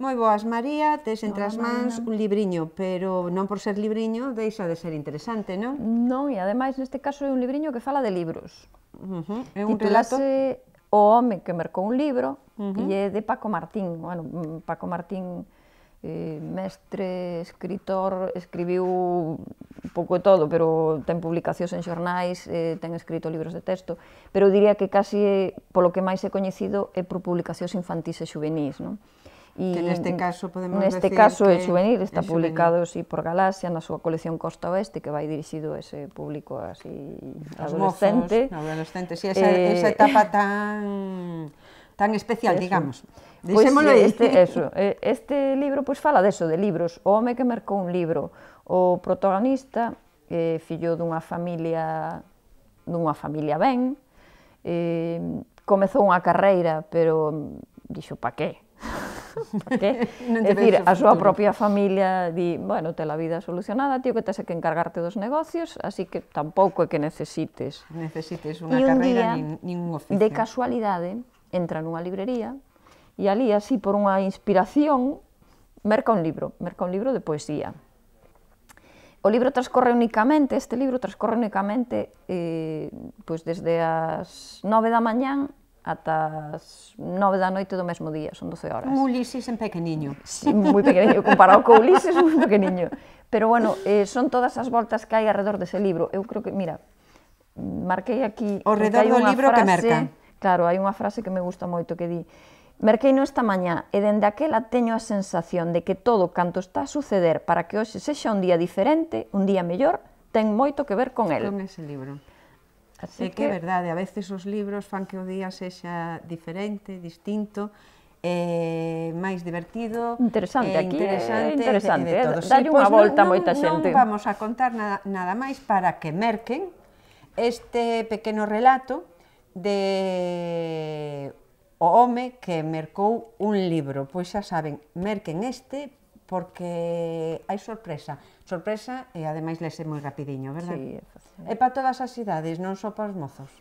Moi boas, María, tes entre as Hola, mans Marina. un libriño, pero non por ser libriño deixa de ser interesante, non? Non, e ademais neste caso é un libriño que fala de libros. É un relato... Titulase O home que mercou un libro e é de Paco Martín. Bueno, Paco Martín, mestre, escritor, escribiu un pouco de todo, pero ten publicacións en xornais, ten escrito libros de texto, pero eu diría que casi polo que máis é coñecido é por publicacións infantís e juvenís, non? Que neste caso podemos neste decir caso que é juvenil, está é juvenil. publicado así por Galaxia na súa colección Costa Oeste, que vai dirixido a ese público así adolescente. Adolescentes, e esa etapa tan especial, eso. digamos. Pois Dixémolo aí. este libro pois fala deso, de libros. O home que mercou un libro. O protagonista, fillo dunha familia ben, comezou unha carreira, pero dixo, pa qué? Pa qué? É dicir, a súa propia familia di, bueno, te la vida solucionada, tío, que tes que encargarte dos negocios, así que tampouco é que necesites unha carreira nin un oficio. De casualidade, entra nunha librería e ali, así, por unha inspiración, merca un libro de poesía. O libro transcorre únicamente, pois desde as 9 da mañán ata as 9 da noite do mesmo día, son 12 horas. Un Ulises en pequeniño. Sí, moi pequeniño, comparado co Ulises, moi pequeniño. Pero, bueno, son todas as voltas que hai alrededor dese libro. Eu creo que, mira, marquei aquí... Ao redor do libro que merca. Claro, hai unha frase que me gusta moito que di: merqueino esta mañá e dende aquela teño a sensación de que todo canto está a suceder para que hoxe sexa un día diferente, un día mellor, ten moito que ver con el. Con ese libro. É que é verdade, a veces os libros fan que o día sexa diferente, distinto, máis divertido, interesante, aquí é interesante, dalle unha volta a moita xente. Non vamos a contar nada máis para que merquen este pequeno relato de o home que mercou un libro. Pois xa saben, merquen este porque hai sorpresa e ademais lese moi rapidiño, verdad? Sí, é fácil. É para todas as idades, non só para os mozos.